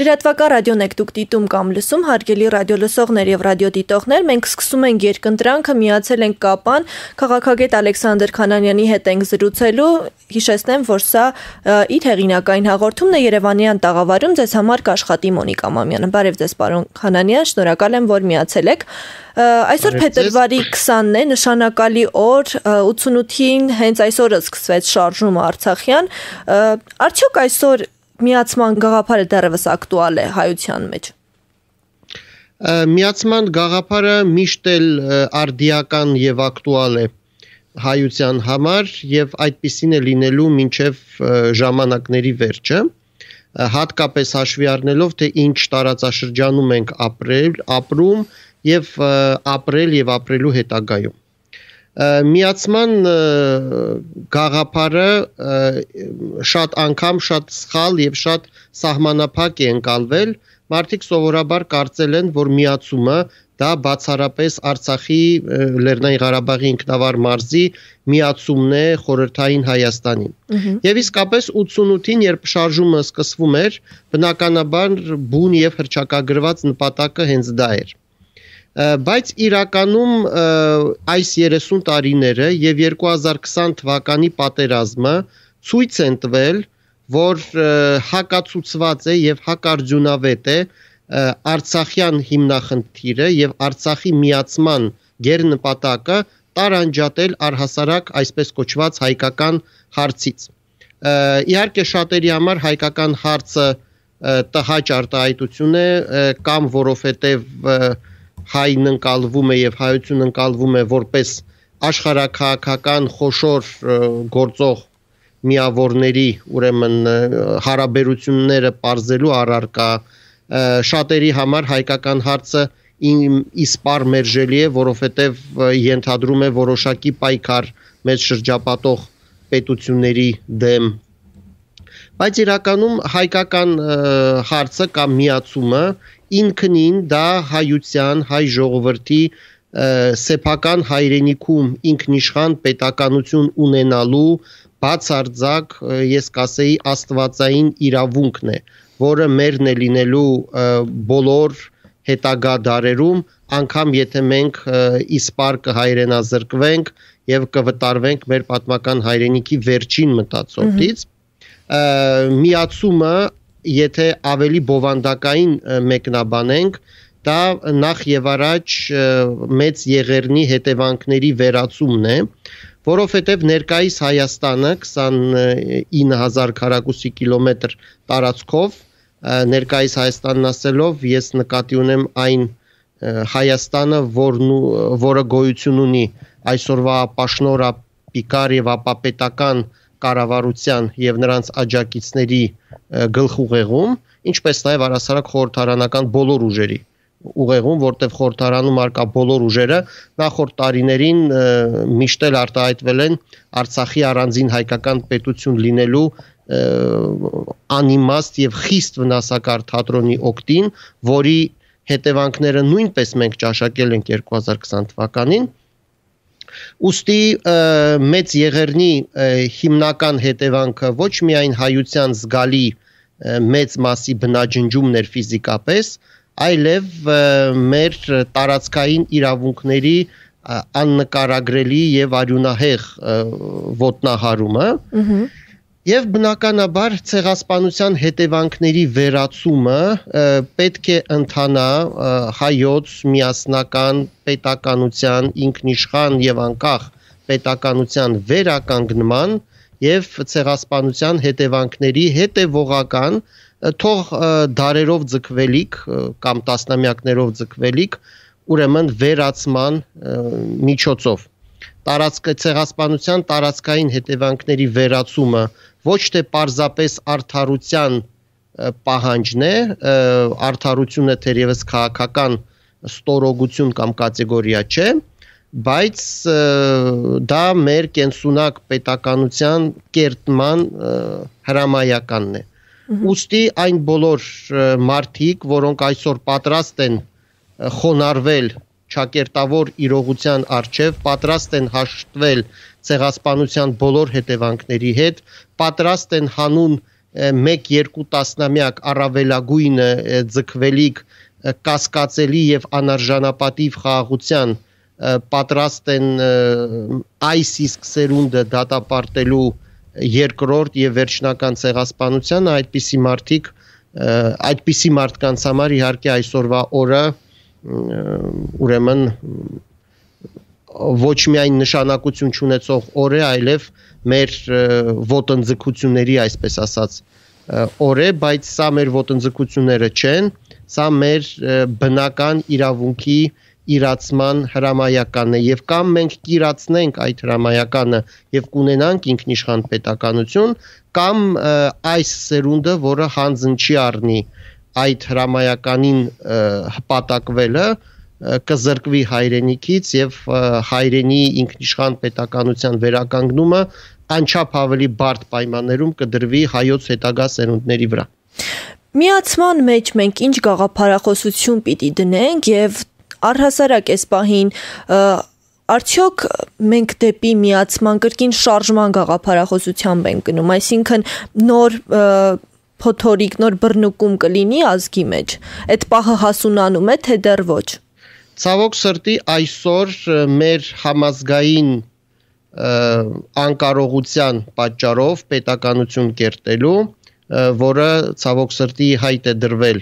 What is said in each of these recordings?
Լրատվական ռադիոն եք դուք դիտում կամ լսում, հարգելի ռադիոլսողներ եւ ռադիոդիտողներ, մենք սկսում ենք երկընտրանքը, միացել ենք Կապան, քաղաքագետ Ալեքսանդր Քանանյանի հետ ենք զրուցելու, հիշեցնեմ, որ սա իր հեղինակային հաղորդումն է Երևանյան տաղավարում, ձեզ համար կաշխատի Մոնիկա Մամյանը։ Բարև ձեզ, պարոն Քանանյան, շնորհակալ եմ, որ միացել եք։ Այսօր փետրվարի 20-ն է, նշանակալի օր, 88-ին հենց այսօրը սկսվեց շարժումը Արցախյան, արդյոք այսօր միացման գաղափարը դեռևս ակտուալ է հայության մեջ։ Միացման գաղափարը միշտ էլ արդիական եւ ակտուալ է հայության համար եւ այդպիսին է լինելու մինչեւ ժամանակների վերջը, հատկապես հաշվի առնելով թե ինչ տարածաշրջանում ենք ապրում եւ ապրել եւ ապրելու հետագայում։ Միացման գաղափարը շատ անգամ շատ սխալ եւ շատ սահմանափակ է ընկալվել, մարդիկ սովորաբար կարծել են, որ միացումը դա բացառապես Արցախի Լեռնային Ղարաբաղի ինքնավար մարզի միացումն է խորհրդային Հայաստանին։ Եվ իսկապես 88-ին, երբ շարժումը սկսվում էր, բնականաբար բուն եւ հռչակագրված նպատակը հենց դա էր։ Բայց իրականում այս 30 տարիները եւ 2020 թվականի պատերազմը ցույց են տվել, որ հակացուցված է եւ հակարդյունավետ է Արցախյան հիմնախնդիրը եւ Արցախի միացման գերնպատակը տարանջատել առհասարակ այսպես կոչված հայկական հարցից։ Իհարկե շատերի համար հայկական հարցը տհաճ արտահայտություն է, կամ որովհետեւ հայն ընկալվում է եւ հայություն ընկալվում է որպես աշխարհաքաղաքական խոշոր գործող միավորների, ուրեմն հարաբերությունները պարզելու առարկա, շատերի համար հայկական հարցը իսպառ մերժելի է, որովհետեւ ենթադրում է որոշակի պայքար մեծ շրջապատող պետությունների դեմ։ Բայց իրականում հայկական հարցը կամ միացումը ինքնին դա հայության, հայ ժողովրդի սեփական հայրենիքում ինքնիշխան պետականություն ունենալու բացարձակ, ես կասեի, աստվածային իրավունքն է, որը մերն է լինելու բոլոր հետագա դարերում, անգամ եթե մենք իսպառ կհայրենազրկվենք եւ կվտարվենք մեր պատմական հայրենիքի վերջին մտածորդից, միացումը եթե ավելի բովանդակային մեկնաբանենք, դա նախ եւ առաջ մեծ եղեռնի հետևանքների վերացումն է, որովհետեւ ներկայիս Հայաստանը 29000 քառակուսի կիլոմետր տարածքով, ներկայիս Հայաստանն ասելով ես նկատի ունեմ այն Հայաստանը, որը գոյություն ունի այսօրվա պաշնորապիկար եւ ապապետական կառավարության եւ նրանց աջակիցների գլխուղեղում, ինչպես նաեւ առասարակ խորհրդարանական բոլոր ուժերի ուղեղում, որտեղ խորհրդարանում արկա բոլոր ուժերը նախորդ տարիներին միշտ էլ արտահայտվել են Արցախի առանձին հայկական պետություն լինելու անիմաստ եւ խիստ վնասակար թատրոնի օգտին, որի հետևանքները նույնպես մենք ճաշակել ենք 2020 թվականին։ Ուստի մեծ եղեռնի հիմնական հետևանքը ոչ միայն հայության զգալի մեծ մասի բնաջնջումն էր ֆիզիկապես, այլև մեր տարածքային իրավունքների աննկարագրելի եւ արյունահեղ ոտնահարումը եւ բնականաբար ցեղասպանության հետևանքների վերացումը պետք է ընթանա հայոց միասնական պետականության ինքնիշխան եւ անկախ պետականության վերականգնման եւ ցեղասպանության հետևանքների հետեւողական թող դարերով ձգվելիք կամ տասնամյակներով ձգվելիք ուրեմն վերացման միջոցով ցեղասպանության տարածքային հետևանքների վերացումը ոչ թե պարզապես արդարության պահանջն է, արդարությունը թերևս քաղաքական ստորոգություն կամ կատեգորիա չէ, բայց դա մեր կենսունակ պետականության կերտման հրամայականն է։ Ուստի այն բոլոր մարդիկ, որոնք այսօր պատրաստ են խոնարհվել ճակերտավոր իրողության առջև, պատրաստ են հաշտվել ցեղասպանության բոլոր հետևանքների հետ, պատրաստ են հանուն 1-2 տասնամյակ առավելագույնը ձգվելիք կասկածելի եւ անարժանապատիվ խաղաղության պատրաստ են այս իսկ սերունդը դատապարտելու երկրորդ եւ վերջնական ցեղասպանությանը, այդպիսի մարդկանց համար իհարկե այսօրվա օրը ուրեմն ոչ միայն նշանակություն չունեցող օր է, այլև մեր ոտնձգությունների, այսպես ասած, օր է, բայց սա մեր ոտնձգությունները չեն, սա մեր բնական իրավունքի իրացման հրամայականն է եւ կամ մենք կիրացնենք այդ հրամայականը եւ կունենանք ինքնիշխան պետականություն, կամ այս սերունդը, որը հանձն չի առնի այդ հրամայականին հպատակվելը, կզրկվի հայրենիքից եւ հայրենի ինքնիշխան պետականության վերականգնումը անչափ ավելի բարդ պայմաններում կդրվի հայոց հետագա սերունդների վրա։ Միացման մեջ մենք ինչ գաղափարախոսություն պիտի դնենք եւ առհասարակ այս պահին արդյոք մենք դեպի միացման կրկին շարժման գաղափարախոսությամբ ենք գնում, այսինքն նոր փոթորիկ, նոր բռնուկում կլինի ազգի մեջ, այդ պահը հասունանում է, թե դեռ ոչ։ Ցավոք սրտի այսօր մեր համազգային անկարողության պատճառով պետականություն կերտելու, որը ցավոք սրտի հայտ է դրվել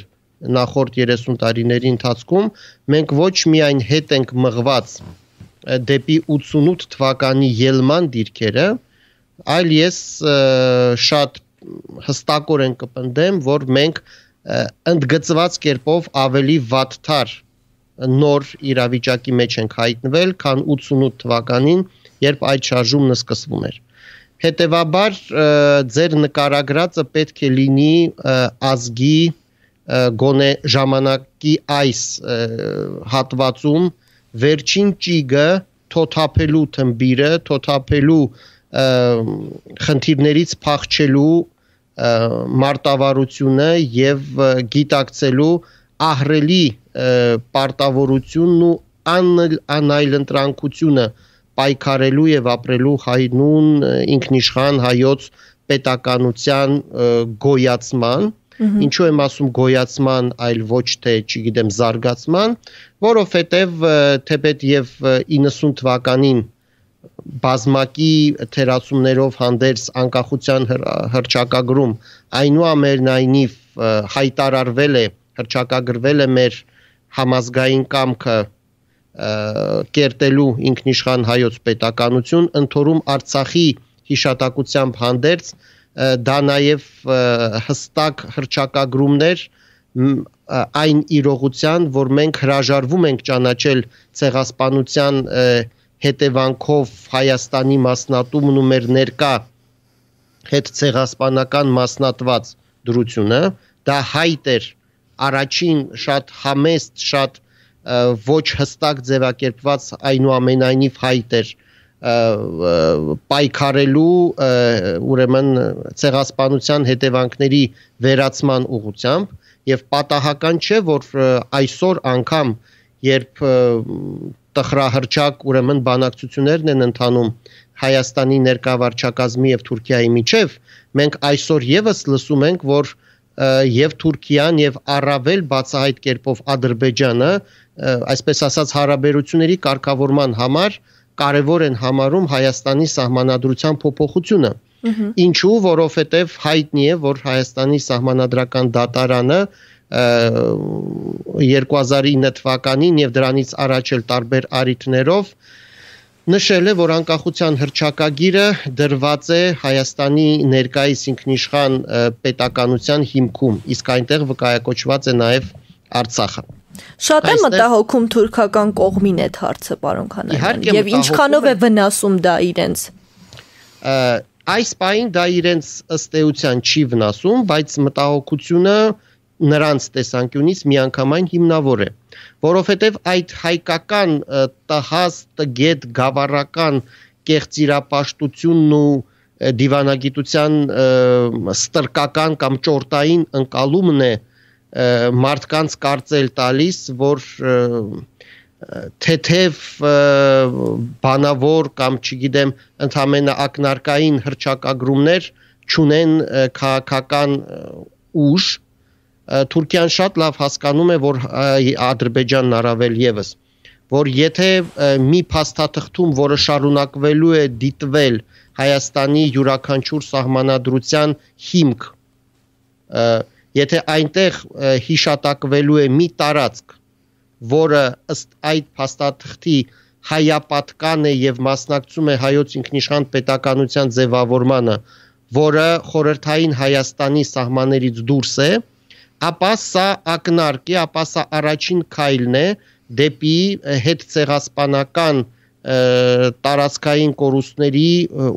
նախորդ 30 տարիների ընթացքում, մենք ոչ միայն հետ ենք մղված դեպի 88 թվականի ելման դիրքերը, այլ ես շատ հստակորեն կպնդեմ, որ մենք ընդգծված կերպով ավելի վատթար նոր իրավիճակի մեջ ենք հայտնվել, քան 88 թվականին, երբ այդ շարժումն սկսվում էր։ Հետևաբար ձեր նկարագրածը պետք է լինի ազգի գոնե ժամանակի այս հատվածում վերջին ճիգը թոթափելու թմբիրը, թոթափելու խնդիրներից փախչելու մարտավարությունը եւ գիտակցելու ահռելի պարտավորությունն ու անայլընտրանքությունը պայքարելու եւ ապրելու հայնուն ինքնիշխան հայոց պետականության գոյացման, ինչու եմ ասում գոյացման, այլ ոչ թե, չգիտեմ, զարգացման, որովհետեւ թեպետ եւ 90 թվականին բազմակի թերացումներով հանդերձ անկախության հռչակագրում այնուամենայնիվ հայտարարվել է, հռչակագրվել է մեր համազգային կամքը կերտելու ինքնիշխան հայոց պետականություն, ընդորում Արցախի հիշատակությամբ հանդերձ դա նաև հստակ հռչակագրումներ այն իրողության, որ մենք հրաժարվում ենք ճանաչել ցեղասպանության հետևանքով Հայաստանի մասնատումն ու մեր ներկա հետ ցեղասպանական մասնատված դրությունը, դա հայտ էր առաջին շատ համեստ, շատ ոչ հստակ ձևակերպված այնուամենայնիվ հայտ էր պայքարելու ուրեմն ցեղասպանության հետևանքների վերացման ուղղությամբ եւ պատահական չէ, որ այսօր անգամ երբ տխրահռչակ ուրեմն բանակցություններն են ընթանում Հայաստանի ներկա վարչակազմի եւ Թուրքիայի միջև, մենք այսօր եւս լսում ենք, որ եւ Թուրքիան եւ առավել բացահայտ կերպով Ադրբեջանը, այսպես ասած հարաբերությունների կարգավորման համար կարևոր են համարում Հայաստանի սահմանադրության փոփոխությունը։ Ինչու, որովհետև հայտնի է, որ Հայաստանի սահմանադրական դատարանը 2009 թվականին եւ դրանից առաջ էլ տարբեր առիթներով նշել է, որ անկախության հռչակագիրը դրված է Հայաստանի ներկայիս ինքնիշխան պետականության հիմքում, իսկ այնտեղ վկայակոչված է նաեւ Արցախը։ Շատ է մտահոգում թուրքական կողմին այդ հարցը, պարոն Քանանյան, եւ ինչքանով է վնասում դա իրենց։ Այս պահին դա իրենց ըստ էության չի վնասում, բայց մտահոգությունը նրանց տեսանկյունից միանգամայն հիմնավոր է, որովհետև այդ հայկական տհաս, տգետ, գավառական կեղծիրապաշտությունն ու դիվանագիտության ստրկական կամ ճորտային ընկալումն է մարդկանց կարծել տալիս, որ թեթև բանավոր կամ չգիտեմ ընդհանրապես ակնարկային հռչակագրումներ չունեն քաղաքական ուժ, Թուրքիան շատ լավ հասկանում է, որ Ադրբեջանն առավել եւս, որ եթե մի փաստաթղթում, որը շարունակվելու է դիտվել Հայաստանի յուրաքանչյուր սահմանադրության հիմք, եթե այնտեղ հիշատակվելու է մի տարածք, որը ըստ այդ փաստաթղթի հայապատկան է եւ մասնակցում է հայոց ինքնիշխան պետականության ձևավորմանը, որը խորհրդային Հայաստանի սահմաններից դուրս է, ապա սա ակնարկ է, ապա սա առաջին քայլն է դեպի հետցեղասպանական տարածքային կորուստների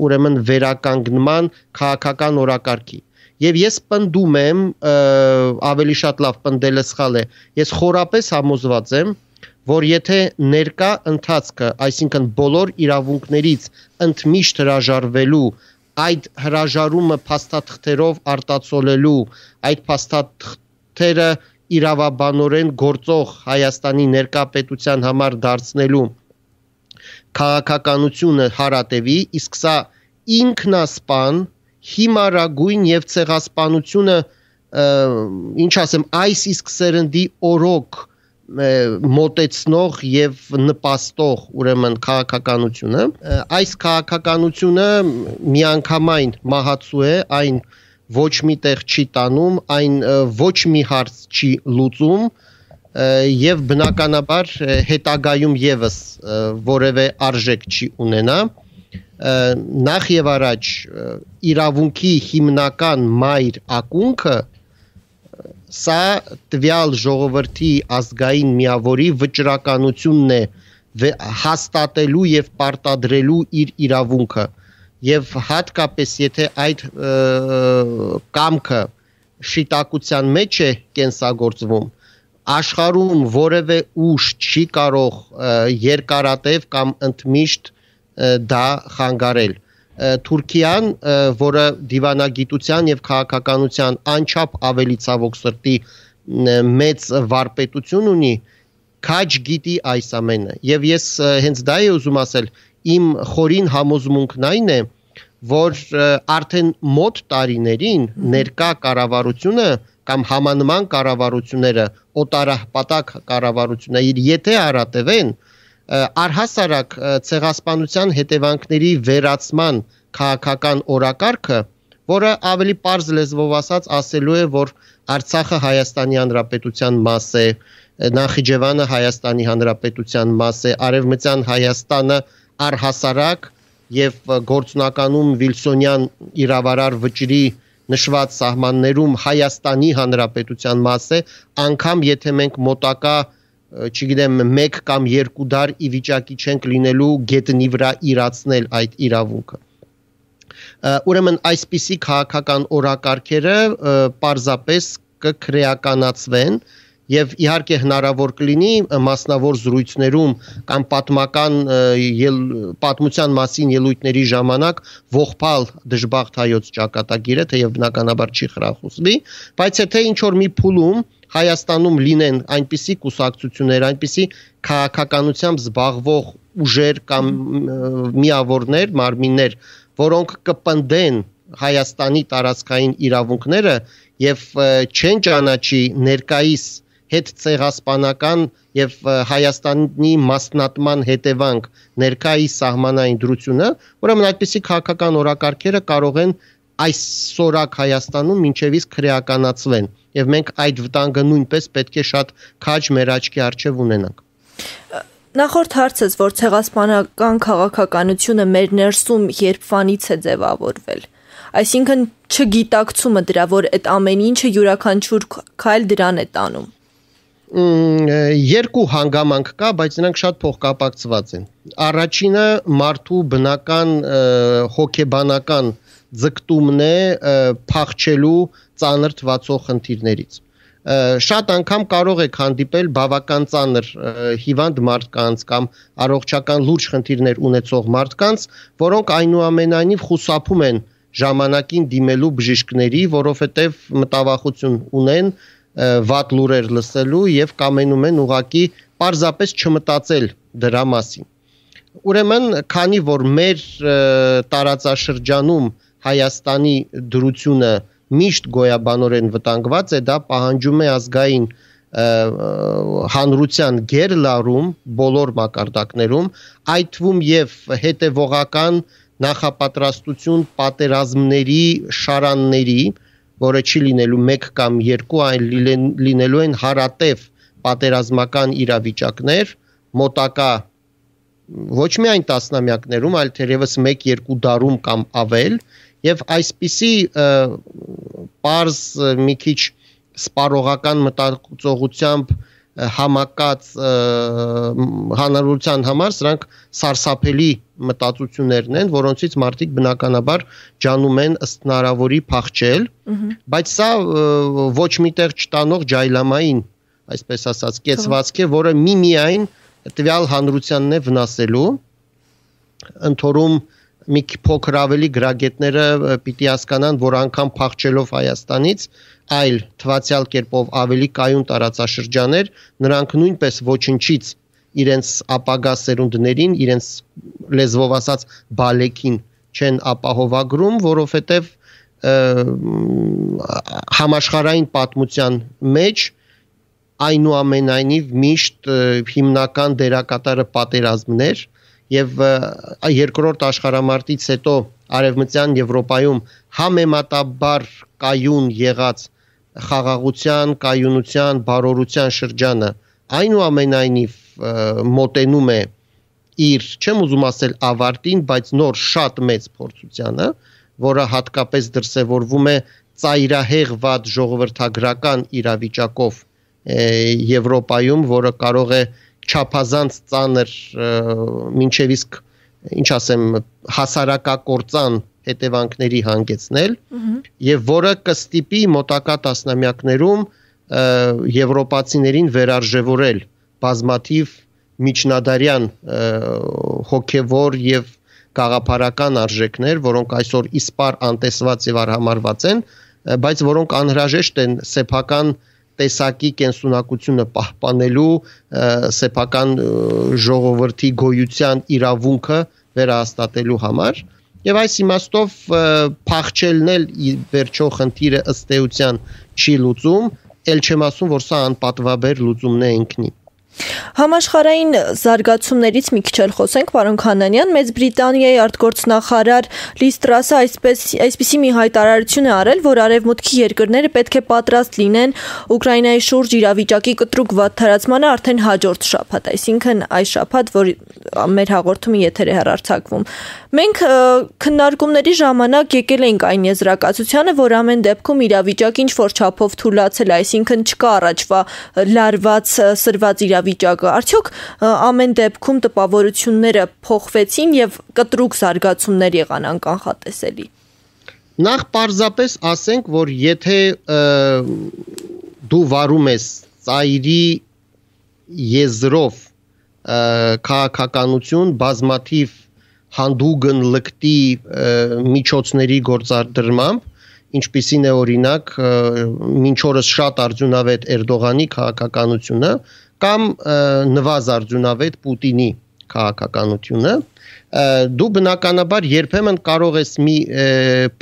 ուրեմն վերականգնման քաղաքական օրակարգի։ Եվ ես պնդում եմ, ավելի շատ լավ պնդելը սխալ է, ես խորապես համոզված եմ, որ եթե ներկա ընթացքը, այսինքն բոլոր իրավունքներից ընդմիշտ հրաժարվելու, այդ հրաժարումը փաստաթղթերով արտացոլելու, այդ փաստաթղթերը իրավաբանորեն գործող Հայաստանի ներկա պետության համար դարձնելու քաղաքականությունը հարատևի, իսկ սա ինքնասպան, հիմարագույն եւ ցեղասպանությունը, ինչ ասեմ, այս իսկ սերնդի օրոք մոտեցնող եւ նպաստող ուրեմն քաղաքականությունը, այս քաղաքականությունը միանգամայն մահացու է, այն ոչ մի տեղ չի տանում, այն ոչ մի հարց չի լուծում եւ բնականաբար հետագայում եւս որևէ արժեք չի ունենա, նախ եւ առաջ իրավունքի հիմնական մայր ակունքը սա տվյալ ժողովրդի ազգային միավորի վճռականությունն է հաստատելու եւ պարտադրելու իր իրավունքը եւ հատկապես եթե այդ կամքը շիտակության մեջ է կենսագործվում, աշխարհում որևէ ուժ չի կարող երկարատև կամ ընդմիշտ դա խանգարել։ Թուրքիան, որը դիվանագիտության եւ քաղաքականության անչափ ավելի ցավոք սրտի մեծ վարպետություն ունի, քաջ գիտի այս ամենը։ Եվ ես հենց դա եմ ուզում ասել, իմ խորին համոզմունքն այն է, որ արդեն մոտ տարիներին ներկա կառավարությունը կամ համանման կառավարությունները, օտարապատակ կառավարությունները, եթե հարատևեն, առհասարակ ցեղասպանության հետևանքների վերացման քաղաքական օրակարգը, որը ավելի պարզ լեզվով ասելու է, որ Արցախը Հայաստանի Հանրապետության մաս է, Նախիջևանը Հայաստանի Հանրապետության մաս է, Արևմտյան Հայաստանը առհասարակ եւ գործնականում Վիլսոնյան իրավարար վճռի նշված սահմաններում Հայաստանի Հանրապետության մաս է, անգամ եթե մենք մոտակա, չգիտեմ, 1 կամ 2 դար ի վիճակի չենք լինելու գետնի վրա իրացնել այդ իրավունքը։ Ուրեմն այսպիսի քաղաքական օրակարգերը պարզապես կքրեականացվեն եւ իհարկե հնարավոր կլինի մասնավոր զրույցներում կամ պատմության մասին ելույթների ժամանակ ողբալ դժբախտ հայոց ճակատագիրը, թեև բնականաբար չի խրախուսվի, բայց եթե ինչ որ մի փուլում Հայաստանում լինեն այնպիսի կուսակցություններ, այնպիսի քաղաքականությամբ զբաղվող ուժեր կամ միավորներ, մարմիններ, որոնք կպնդեն Հայաստանի տարածքային իրավունքները եւ չեն ճանաչի ներկայիս հետ ցեղասպանական եւ Հայաստանի մասնատման հետևանք ներկայիս սահմանային դրությունը, ուրեմն այդպիսի քաղաքական օրակարգերը կարող են այսօրակ Հայաստանում մինչև իսկ քրեականացվեն եւ մենք այդ վտանգը նույնպես պետք է շատ քաջ մեր աչքի առջև ունենանք։ Նախորդ հարցս, որ ցեղասպանական քաղաքականությունը մեր ներսում երբվանից է ձևավորվել, այսինքն չգիտակցումը դրա, որ այդ ամեն ինչը յուրաքանչյուր քայլ դրան է տանում։ Երկու հանգամանք կա, բայց նրանք շատ փոխկապակցված են։ Առաջինը մարդու բնական հոգեբանական ձգտումն է փախչելու ծանր թվացող խնդիրներից։ Շատ անգամ կարող եք հանդիպել բավական ծանր հիվանդ մարդկանց կամ առողջական լուրջ խնդիրներ ունեցող մարդկանց, որոնք այնուամենայնիվ խուսափում են ժամանակին դիմելու բժիշկների, որովհետև մտավախություն ունեն վատ լուրեր լսելու եւ կամենում են ուղակի պարզապես չմտածել դրա մասին։ Ուրեմն, քանի որ մեր տարածաշրջանում Հայաստանի դրությունը միշտ գոյաբանորեն վտանգված է, դա պահանջում է ազգային հանրության գերլարում բոլոր մակարդակներում, այդ թվում եւ հետեւողական նախապատրաստություն պատերազմների շարանների, որը չի լինելու 1 կամ 2, այլ լինելու են հարատև պատերազմական իրավիճակներ, մոտակա ոչ միայն տասնամյակներում, այլ թերևս 1-2 դարում կամ ավել, եւ այսպիսի պարզ մի քիչ սպառողական մտածողությամբ համակած հանրության համար սրանք սարսափելի մտածություններն են, որոնցից մարդիկ բնականաբար ջանում են ըստ հնարավորի փախչել, բայց սա ոչ միտեղ չտանող ջայլամային, այսպես ասած, կեցվածք է, որը միմիայն տվյալ հանրությանն է վնասելու, ընդորում մի փոքր ավելի գրագետները պիտի հասկանան, որ անգամ փախչելով Հայաստանից, այլ թվացյալ կերպով ավելի կայուն տարածաշրջաներ, նրանք նույնպես ոչնչից իրենց ապագա սերունդներին, իրենց լեզվով ասած բալեկին չեն ապահովագրում, որովհետև համաշխարհային պատմության մեջ այնուամենայնիվ միշտ հիմնական դերակատարը պատերազմներ եւ երկրորդ աշխարհամարտից հետո Արևմտյան Եվրոպայում համեմատաբար կայուն եղած խաղաղության, կայունության, բարօրության շրջանը այնուամենայնիվ մոտենում է իր, չեմ ուզում ասել ավարտին, բայց նոր շատ մեծ փորձությանը, որը հատկապես դրսևորվում է ծայրահեղ վատ ժողովրդագրական իրավիճակով Եվրոպայում, որը կարող է չափազանց ծանր մինչև իսկ ինչ ասեմ հասարակակործան հետևանքների հանգեցնել եւ որը կստիպի մոտակա տասնամյակներում եվրոպացիներին վերարժևորել բազմաթիվ միջնադարյան հոգեվոր եւ գաղափարական արժեքներ, որոնք այսօր իսպար անտեսված եւ արհամարված են, բայց որոնք անհրաժեշտ են սեփական տեսակի կենսունակությունը պահպանելու, սեփական ժողովրդի գոյության իրավունքը վերահաստատելու համար եւ այս իմաստով փախչելն էլ վերջո խնդիրը ըստ էության չի լուծում, ել չեմ ասում, որ սա անպատվաբեր լուծումն է ինքնին։ Համաշխարհային զարգացումներից մի քիչ էլ խոսենք, պարոն Քանանյան, Մեծ Բրիտանիայի արտգործնախարար Լիզ Տրասը այսպիսի մի հայտարարություն է արել, որ արևմուտքի երկրները պետք է պատրաստ լինեն Ուկրաինայի շուրջ իրավիճակի կտրուկ վատթարացմանը արդեն հաջորդ շաբաթ, այսինքն այս շաբաթ, որ մեր հաղորդումը եթեր է հեռարձակվում։ Մենք քննարկումների ժամանակ եկել ենք այն եզրակացությանը, որ ամեն դեպքում իրավիճակը ինչ որ չափով թուլացել է, այսինքն չկա առաջվա լարված սրված իրավիճակը։ Արդյոք ամեն դեպքում տպավորությունները փոխվեցին եւ կտրուկ զարգացումներ եղան անկանխատեսելի։ Նախ պարզապես ասենք, որ եթե դու վարում ես ծայրի եզրով քաղաքականություն, բազմաթիվ հանդուգն լկտի միջոցների գործադրմամբ, ինչպիսին է օրինակ մինչ օրս շատ արդյունավետ Էրդողանի քաղաքականությունը կամ նվազ արդյունավետ Պուտինի քաղաքականությունը, դու բնականաբար երբեմն կարող ես մի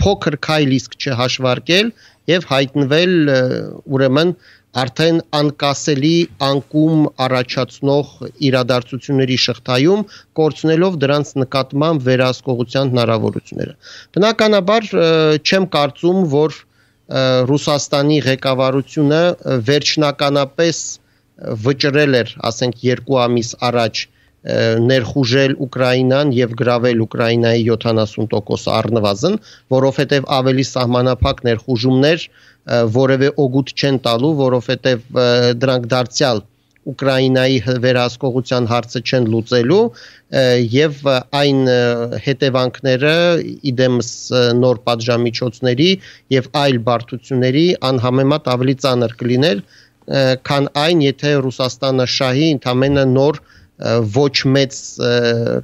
փոքր քայլ իսկ չհաշվարկել եւ հայտնվել ուրեմն արդեն անկասելի անկում առաջացնող իրադարձությունների շղթայում, կորցնելով դրանց նկատմամբ վերահսկողության հնարավորությունները։ Բնականաբար չեմ կարծում, որ Ռուսաստանի ղեկավարությունը վերջնականապես վճռել էր, ասենք 2 ամիս առաջ ներխուժել Ուկրաինան եւ գրավել Ուկրաինայի 70% առնվազն, որովհետեւ ավելի սահմանափակ ներխուժումներ որևէ օգուտ չեն տալու, որովհետեւ դրանք դարձյալ Ուկրաինայի վերահսկողության հարցը չեն լուծելու եւ այն հետևանքները իդեմս նոր պատժամիջոցների եւ այլ բարդությունների անհամեմատ ավելի ծանր կլիներ, քան այն, եթե Ռուսաստանը շահի ընդամենը նոր ոչ մեծ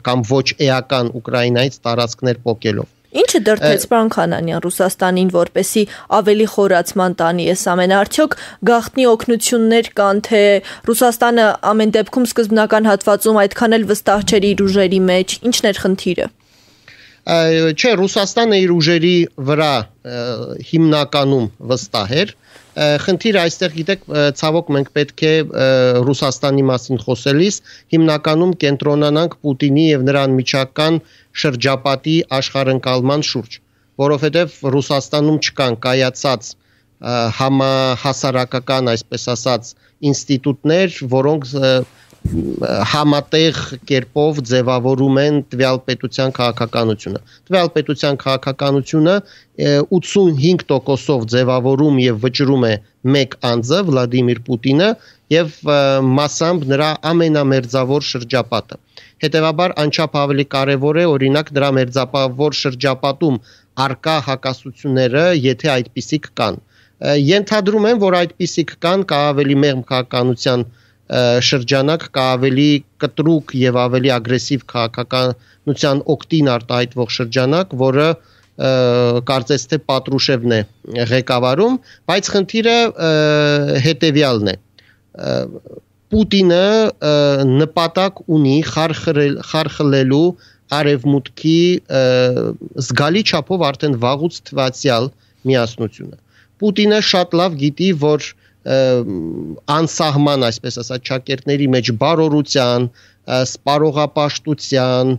կամ ոչ էական Ուկրաինայից տարածքներ պոկելով։ Ինչը դրդեց պարոն Քանանյան Ռուսաստանին, որպեսի ավելի խորացման տանի այս ամենը, արդյոք գաղտնի օգնություններ կան, թե Ռուսաստանը ամեն դեպքում սկզբնական հատվածում այդքան էլ վստահ չէր իր ուժերի մեջ, ինչն էր խնդիրը։ Չէ, Ռուսաստանը իր ուժերի վրա հիմնականում վստահ էր։ Խնդիրը այստեղ գիտեք, ցավոք մենք պետք է Ռուսաստանի մասին խոսելիս հիմնականում կենտրոնանանք Պուտինի եւ նրա անմիջական շրջապատի աշխարհընկալման շուրջ, որովհետեւ Ռուսաստանում չկան կայացած համահասարակական, այսպես ասած, ինստիտուտներ, որոնք համատեղ կերպով ձևավորում են տվյալ պետության քաղաքականությունը։ Տվյալ պետության քաղաքականությունը 85%-ով ձևավորում եւ վճռում է մեկ անձը Վլադիմիր Պուտինը եւ մասամբ նրա ամենամերձավոր շրջապատը։ Հետևաբար անչափ ավելի կարեւոր է օրինակ նրա մերձապավոր շրջապատում արկա հակասությունները, եթե այդպիսիք կան։ Ենթադրում եմ, որ այդպիսիք կան, կա ավելի մեղմ քաղաքականության շրջանակ, կա ավելի կտրուկ եւ ավելի ագրեսիվ քաղաքականության օգտին արտահայտվող շրջանակ, որը կարծես թե Պատրուշևն է ղեկավարում, բայց խնդիրը հետեւյալն է։ Պուտինը նպատակ ունի խարխլելու արևմուտքի զգալի չափով արդեն վաղուց թվացյալ միասնությունը։ Պուտինը շատ լավ գիտի, որ անսահման, այսպես ասած, ճակերտների մեջ բարօրության, սպառողապաշտության,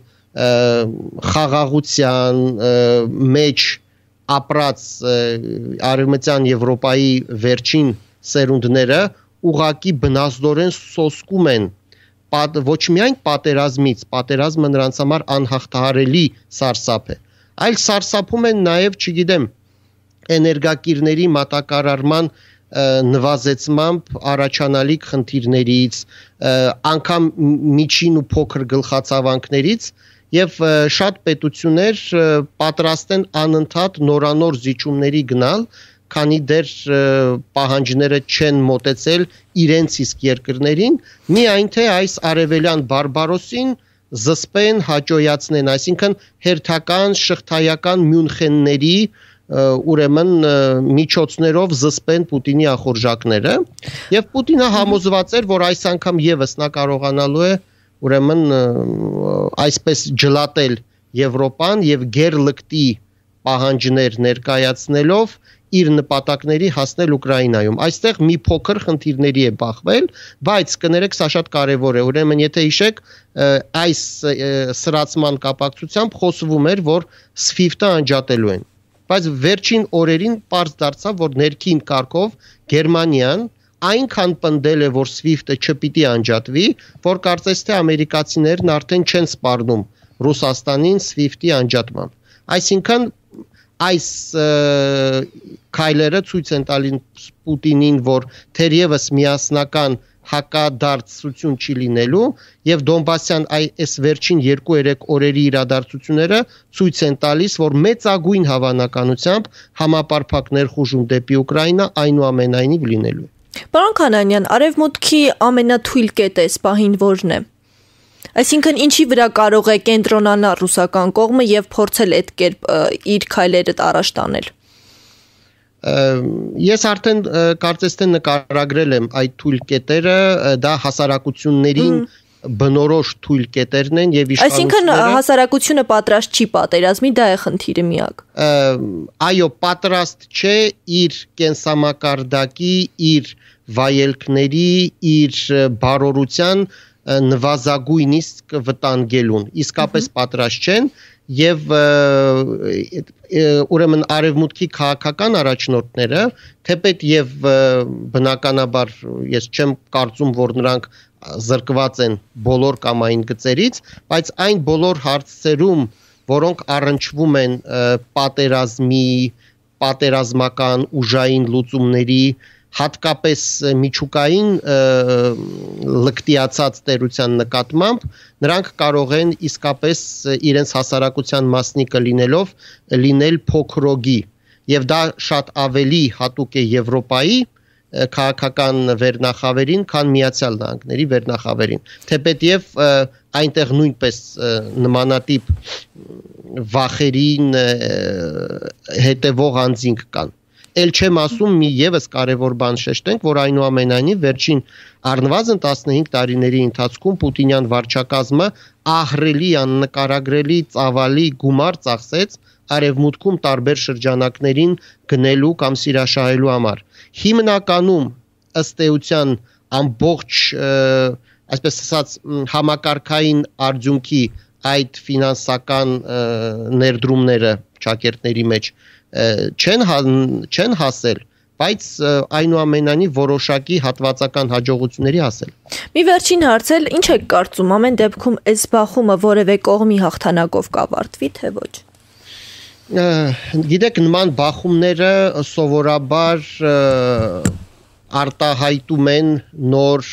խաղաղության մեջ ապրած Արևմտյան Եվրոպայի վերջին սերունդները ուղղակի բնազդորեն սոսկում են ոչ միայն պատերազմից, պատերազմը նրանց համար անհաղթահարելի սարսափ է, այլ սարսափում են նաև, չգիտեմ, էներգակիրների մատակարարման նվազեցմամբ առաջանալիք խնդիրներից, անգամ միջին ու փոքր գլխացավանքներից եւ շատ պետություններ պատրաստ են անընդհատ նորանոր զիջումների գնալ, քանի դեռ պահանջները չեն մոտեցել իրենց իսկ երկրներին, միայն թե այս արևելյան բարբարոսին զսպեն, հաճոյացնեն, այսինքն հերթական շղթայական Մյունխենների ուրեմն միջոցներով զսպեն Պուտինի ախորժակները եւ Պուտինը համոզված էր, որ այս անգամ եւս նա կարողանալու է ուրեմն այսպես ջլատել Եվրոպան եւ գերլկտի պահանջներ ներկայացնելով իր նպատակների հասնել Ուկրաինայում։ Այստեղ մի փոքր խնդիրների է բախվել, բայց կներեք, սա շատ կարևոր է։ Ուրեմն եթե հիշեք, այս սրացման կապակցությամբ խոսվում էր, որ SWIFT-ը անջատելու են։ Բայց վերջին օրերին պարզ դարձավ, որ ներքին կարգով Գերմանիան այնքան պնդել է, որ SWIFT-ը չպիտի անջատվի, որ կարծես թե ամերիկացիներն արդեն չեն սպառնում Ռուսաստանին SWIFT-ի անջատմամբ։ Այսինքն այս քայլերը ցույց են տալիս Պուտինին, որ թերևս միասնական հակադարձություն չի լինելու եւ Դոնբասյան այս վերջին 2-3 օրերի իրադարձությունները ցույց են տալիս, որ մեծագույն հավանականությամբ համապարփակ ներխուժում դեպի Ուկրաինա այնուամենայնիվ լինելու է։ Պարոն Քանանյան, արևմուտքի ամենաթույլ կետը սպահին որն է։ Այսինքն ինչի վրա կարող է կենտրոնանալ ռուսական կողմը եւ փորձել այդ կերպ իր քայլերը առաջ տանել։ Ես արդեն կարծես թե նկարագրել եմ այդ թույլ կետերը, դա հասարակություններին բնորոշ թույլ կետերն են եւ իշխանությունները։ Այսինքն հասարակությունը պատրաստ չի պատերազմի, դա է խնդիրը միակ։ Այո, պատրաստ չէ իր կենսամակարդակի, իր վայելքների, իր բարօրության նվազագույնիսկ վտանգելուն, իսկապես պատրաստ չեն եւ ուրեմն արևմուտքի քաղաքական առաջնորդները, թեպետ եւ բնականաբար ես չեմ կարծում, որ նրանք զրկված են բոլոր կամային գծերից, բայց այն բոլոր հարցերում, որոնք առնչվում են պատերազմի, պատերազմական ուժային լուծումների, հատկապես միջուկային լկտիացած տերության նկատմամբ նրանք կարող են իսկապես իրենց հասարակության մասնիկը լինելով լինել փոքրոգի եւ դա շատ ավելի հատուկ է Եվրոպայի քաղաքական վերնախավերին, քան Միացյալ Նահանգների վերնախավերին, թեպետև այնտեղ նույնպես նմանատիպ վախերին հետևող անձինք կան։ Էլ չեմ ասում մի եւս կարևոր բան շեշտենք, որ այնուամենայնիվ վերջին առնվազն 15 տարիների ընթացքում Պուտինյան վարչակազմը ահռելի աննկարագրելի ծավալի գումար ծախսեց արևմուտքում տարբեր շրջանակներին գնելու կամ սիրաշահելու համար։ Հիմնականում ըստ էության ամբողջ այսպես ասած համակարգային արդյունքի այդ ֆինանսական ներդրումները ճակերտների մեջ չեն հասել, բայց այնուամենայնիվ որոշակի հատվածական հաջողությունների հասել։ Մի վերջին հարց էլ, ինչ եք կարծում, ամեն դեպքում այս բախումը որևէ կողմի հաղթանակով կավարտվի, թե ոչ։ Գիտեք, նման բախումները սովորաբար արտահայտում են նոր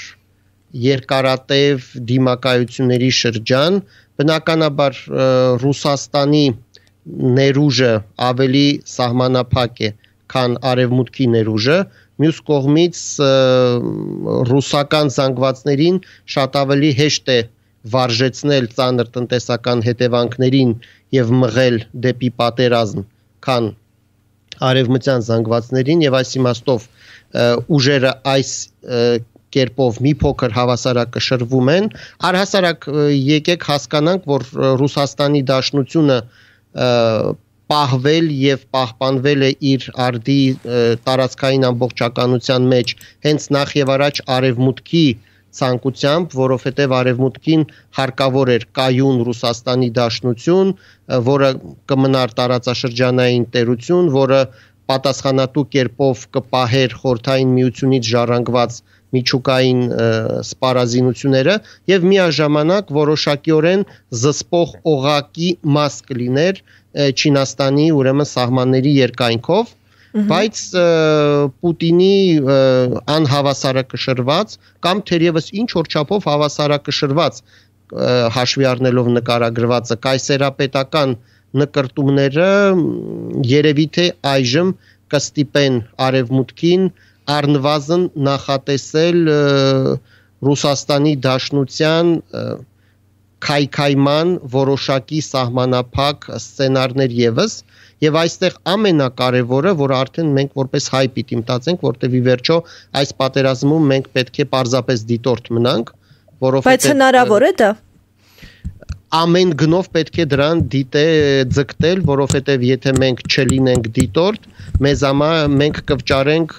երկարատև դիմակայությունների շրջան, բնականաբար Ռուսաստանի ներուժը ավելի սահմանափակ է, քան արևմուտքի ներուժը, մյուս կողմից ռուսական զանգվածներին շատ ավելի հեշտ է վարժեցնել ծանր տնտեսական հետևանքներին եւ մղել դեպի պատերազմ, քան արևմտյան զանգվածներին եւ այս իմաստով ուժերը այս կերպով մի փոքր հավասարակշռվում են, առհասարակ եկեք հասկանանք, որ Ռուսաստանի Դաշնությունը պահվել եւ պահպանվել է իր արդի տարածքային ամբողջականության մեջ հենց նախ եւ առաջ արևմուտքի ցանկությամբ, որովհետեւ արևմուտքին հարկավոր էր կայուն Ռուսաստանի Դաշնություն, որը կմնար տարածաշրջանային տերություն, որը պատասխանատու կերպով կպահեր խորհրդային միությունից ժառանգված միջուկային սպառազինությունները եւ միաժամանակ որոշակիորեն զսպող օղակի մաս կլիներ Չինաստանի ուրեմն սահմանների երկայնքով, բայց Պուտինի անհավասարակշռված կամ թերևս ինչ որ չափով հավասարակշռված հաշվի առնելով նկարագրվածը կայսերապետական նկրտումները երևի թե այժմ կստիպեն արևմուտքին առնվազն նախատեսել Ռուսաստանի Դաշնության քայքայման որոշակի սահմանափակ սցենարներ եւս եւ այստեղ ամենակարևորը, որ արդեն մենք որպես հայ պիտի մտածենք, որտեղ ի վերջո այս պատերազմում մենք պետք է պարզապես դիտորդ մնանք, որովհետեւ բայց հնարավոր է դա ամեն գնով պետք է դրան ձգտել, որովհետև եթե մենք չլինենք դիտորդ, մենք կվճարենք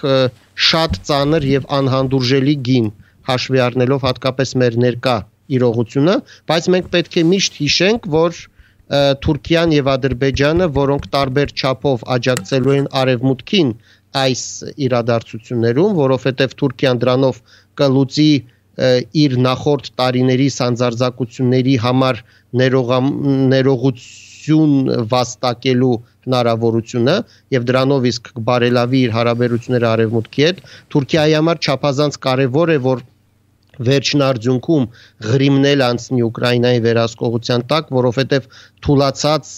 շատ ծանր եւ անհանդուրժելի գին, հաշվի առնելով հատկապես մեր ներկա իրողությունը, բայց մենք պետք է միշտ հիշենք, որ Թուրքիան եւ Ադրբեջանը, որոնք տարբեր չափով աջակցելու են արևմուտքին այս իրադարձություններում, որովհետև Թուրքիան դրանով կլուծի իր նախորդ տարիների սանձարձակությունների համար ներողություն վաստակելու հնարավորությունը եւ դրանով իսկ բարելավի իր հարաբերությունները արևմուտքի հետ Թուրքիայի համար չափազանց կարեւոր է որ վերջին արդյունքում ղրիմնել անցնի Ուկրաինայի վերահսկողության տակ, որովհետև թուլացած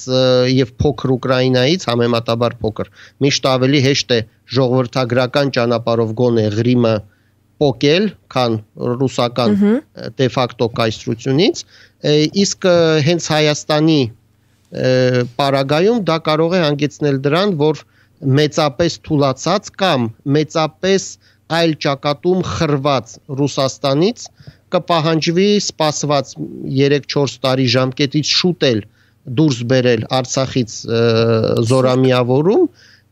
եւ փոքր Ուկրաինայից համեմատաբար փոքր միշտ ավելի հեշտ է ժողովրդագրական ճանապարհով գոնե ղրիմը պոկել, քան ռուսական դե ֆակտո կայսրությունից, իսկ հենց Հայաստանի պարագայում դա կարող է հանգեցնել դրան, որ մեծապես թուլացած կամ մեծապես այլ ճակատում խրված Ռուսաստանից կպահանջվի սպասված 3-4 տարի ժամկետից շուտ էլ դուրս բերել Արցախից զորամիավորում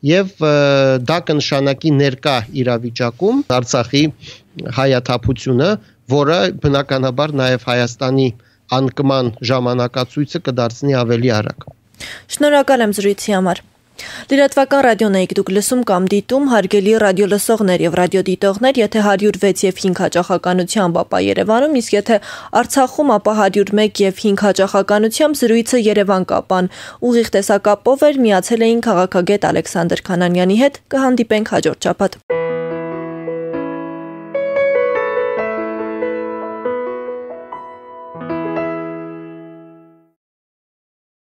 եւ դա կնշանակի ներկա իրավիճակում Արցախի հայաթափությունը, որը բնականաբար նաեւ Հայաստանի անկման ժամանակացույցը կդարձնի ավելի արագ։ Շնորհակալ եմ զրույցի համար։ Լրատվական ռադիոն եք դուք լսում կամ դիտում, հարգելի ռադիոլսողներ եւ ռադիոդիտողներ, եթե 106 եւ 5 հաճախականությամբ, ապա Երևանում, իսկ եթե Արցախում, ապա 101 եւ 5 հաճախականությամբ զրույցը Երևան կապան ուղիղ տեսակապով էր, միացել էին քաղաքագետ Ալեքսանդր Քանանյանի հետ, կհանդիպենք հաջորդ շաբաթ։